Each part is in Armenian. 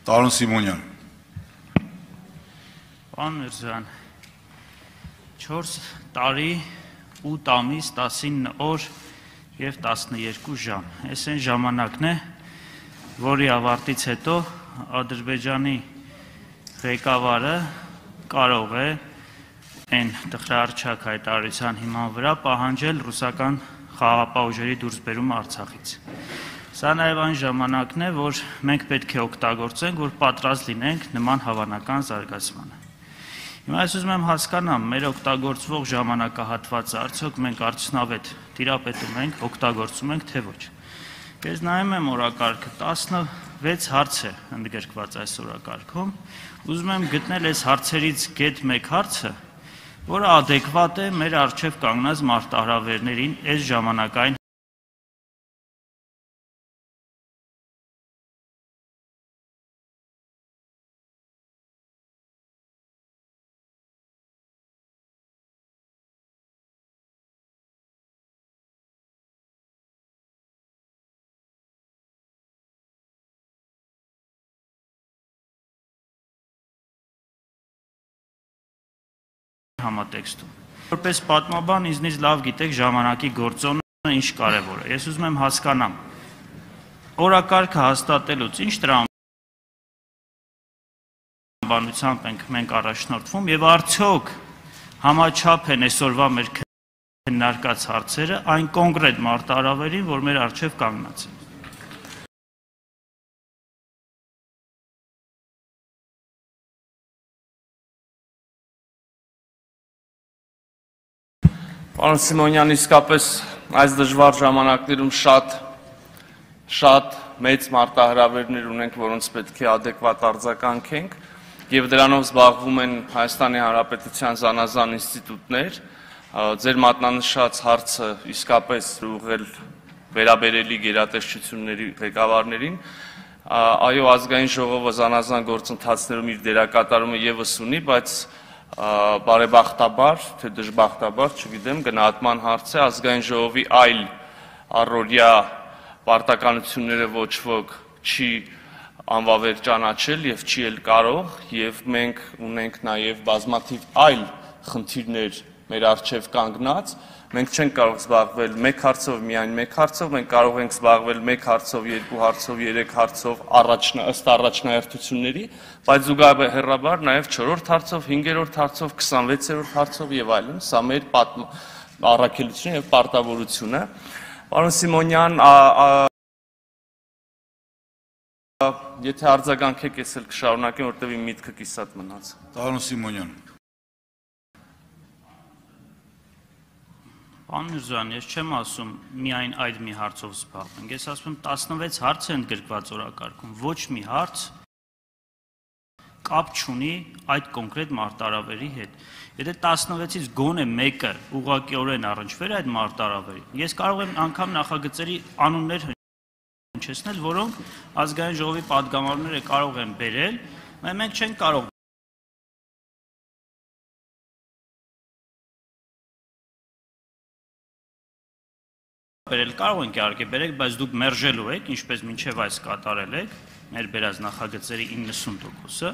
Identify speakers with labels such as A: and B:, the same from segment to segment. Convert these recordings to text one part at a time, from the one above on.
A: Տարոն Սիմոնյան։
B: Պարոն Միրզոյան, 4 տարի, 8 ամիս, 19 օր և 12 ժամ։ Այս այն ժամանակն է, որի ավարտից հետո Ադրբեջանի ղեկավարը կարող է այն տխրահարչակ հայտարարության հիման վրա պահանջել ռուսական խաղաղապահ ուժերի դուրսբերումը Արցախից։ Սա նաև այն ժամանակն է, որ մենք պետք է օգտագործենք, որ պատրաստ լինենք նման հավանական զարգացմանը։ Հիմա ես ուզում եմ հասկանամ, մեր օգտագործվող ժամանակահատվածը արդյոք մենք արդյունավետ տիրապետում ենք, օգտագործում ենք, թե ոչ։ Ես նայում եմ օրակարգը, 16 հարց է ընդգրկված այս օրակարգում, ուզում եմ գտնել այս հարցերից գեթ մեկ հարցը, որը ադեկվատ է մեր առջև կանգնած մարտահրավերներին այս ժամանակային համատեքստում։ Որպես պատմաբան ինձնից լավ գիտեք ժամանակի գործոնը ինչ կարևոր է։ Ես ուզում եմ հասկանամ, օրակարգը հաստատելուց ինչ տրամաբանությամբ ենք մենք առաջնորդվում և արդյոք համաչափ են այսօրվա մեր քննարկած հարցերը այն կոնկրետ մարտահրավերին, որ մեր առջև կանգնած է։
C: Պարոն Սիմոնյան, իսկապես այս դժվար ժամանակներում շատ մեծ մարտահրավերներ ունենք, որոնց պետք է ադեկվատ արձագանքենք, և դրանով զբաղվում են Հայաստանի Հանրապետության զանազան ինստիտուտներ։ Ձեր մատնանշած հարցը իսկապես ուղղել վերաբերելի գերատեսչությունների ղեկավարներին։ Այո, ազգային ժողովը զանազան գործընթացներում իր դերակատարումը ևս ունի, բայց բարեբախտաբար, թե դժբախտաբար, չգիտեմ, գնահատման հարց է, ազգային ժողովի այլ առօրյա պարտականությունները ոչ ոք չի անվավեր ճանաչել և չի էլ կարող, և մենք ունենք նաև բազմաթիվ այլ խնդիրներ մեր առջև կանգնած, մենք չենք կարող զբաղվել մեկ հարցով, միայն մեկ հարցով, մենք կարող ենք զբաղվել մեկ հարցով, երկու հարցով, երեք հարցով ըստ առաջնահերթությունների, բայց զուգահեռաբար նաև 4-րդ հարցով, 5-րդ հարցով, 26-րդ հարցով և այլն, սա մեր առաքելությունը և պարտավորությունը։ Պարոն Սիմոնյան, եթե արձագանքեք, ես էլ կշարունակեմ, որտև իմ միտքը կիսատ մնաց։
A: Տարոն Սիմոնյան։
B: Պարոն Միրզոյան, ես չեմ ասում միայն այդ մի հարցով զբաղվենք, ես ասում եմ 16 հարց է ընդգրկված օրակարգում, ոչ մի հարց կապ չունի այդ կոնկրետ մարտահրավերի հետ։ Եթե 16-ից գոնե մեկը ուղղակիորեն առնչվեր այդ մարտահրավերին, ես կարող եմ անգամ նախագծերի անուններ հնչեցնել, որոնք ազգային ժողովի պատգամավորները կարող են բերել, մենք չենք կարող կարող ենք իհարկե բերեք, բայց դուք մերժելու եք, ինչպես մինչև այս կատարել եք, մեր բերած նախագծերի 90%-ը,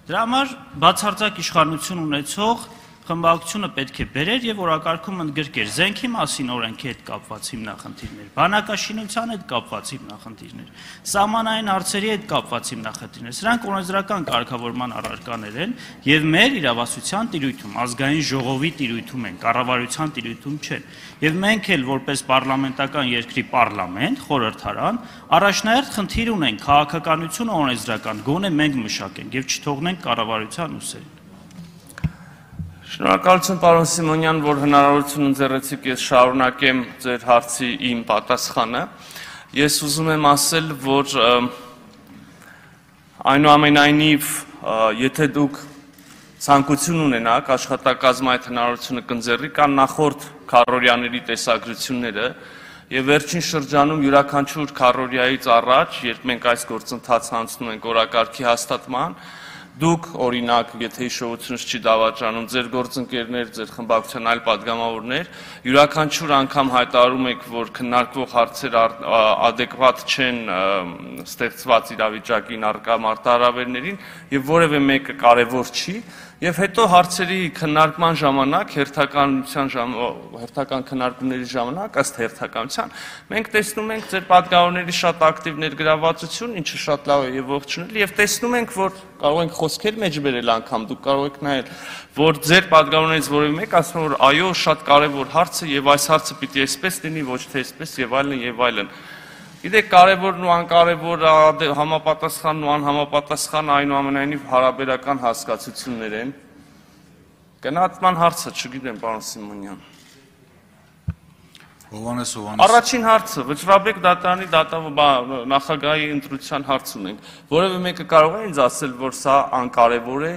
B: դրա համար բացարձակ իշխանություն ունեցող խմբակցությունը պետք է բերեր և օրակարգում ընդգրկեր զենքի մասին օրենքի հետ կապված հիմնախնդիրներ, բանակաշինության հետ կապված հիմնախնդիրներ, սահմանային հարցերի հետ կապված հիմնախնդիրներ, սրանք օրենսդրական կարգավորման առարկաներ են և մեր իրավասության տիրույթում, ազգային ժողովի տիրույթում են, կառավարության տիրույթում չեն, և մենք էլ որպես պարլամենտական երկրի պարլամենտ, խորհրդարան, առաջնահերթ խնդիր ունենք քաղաքականությունը օրենսդրական, գոնե մենք մշակենք և չթողնենք կառավարության ուսերին։
C: Շնորհակալություն, պարոն Սիմոնյան, որ հնարավորություն ընձեռեցիք, ես շարունակեմ ձեր հարցի իմ պատասխանը։ Ես ուզում եմ ասել, որ այնուամենայնիվ, եթե դուք ցանկություն ունենաք, աշխատակազմը այդ հնարավորությունը կընձեռի, կան նախորդ քառօրյաների տեսագրությունները, և վերջին շրջանում յուրաքանչյուր քառօրյայից առաջ, երբ մենք այս գործընթացը անցնում ենք օրակարգի հաստատման, Դուք օրինակ, եթե հիշողությունս չի դավաճանում, ձեր գործընկերներ, ձեր խմբակցության այլ падգամավորներ յուրաքանչյուր անգամ հայտարարում եք, որ քննարկվող հարցեր adekvat չեն ստեղծված իրավիճակին առկա մարտահրավերներին եւ որևէ մեկը կարեւոր չի, եւ հետո հարցերի քննարկման ժամանակ հերթական քննարկումների ժամանակ ըստ հերթականության մենք տեսնում ենք ձեր падգամավորների շատ ակտիվ ներգրավվածություն, ինչը շատ լավ է եւ ողջունել եւ տեսնում ենք, որ կարող ենք խոսքեր մեջ բերել անգամ դուք կարող եք նայել, որ ձեր падգամավորներից որևէ մեկ ասում որ այո, շատ կարեւոր հարց է եւ այս հարցը պիտի այսպես լինի, ոչ թե այսպես եւ այլն եւ այլն։ Գիտեք, կարևորն ու անկարևոր համապատասխանն ու անհամապատասխանը այնուամենայնիվ հարաբերական հասկացություններ են։ Գնահատման հարցը, չգիտեմ, պարոն Սիմոնյան։
A: Հովհաննես
C: Առաջին հարցը, Վճռաբեկ դատարանի նախագահի ընտրության հարց ունենք։ Որևէ մեկը կարող է ինձ ասել, որ սա անկարևոր է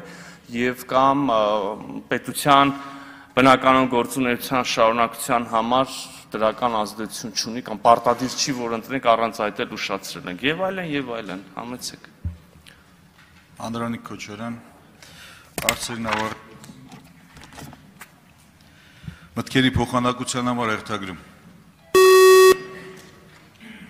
C: եւ կամ պետության բնականոն գործունեության շարունակության համար դրական ազդեցություն չունի կամ պարտադիր չի, որ ընտրենք առանց այդ էլ ուշացրել ենք եւ այլն, համեցեք։
A: Անդրանիկ Քոչարյան, հարցերն ավարտ։ Մտքերի փոխանակության համար հերթագրում։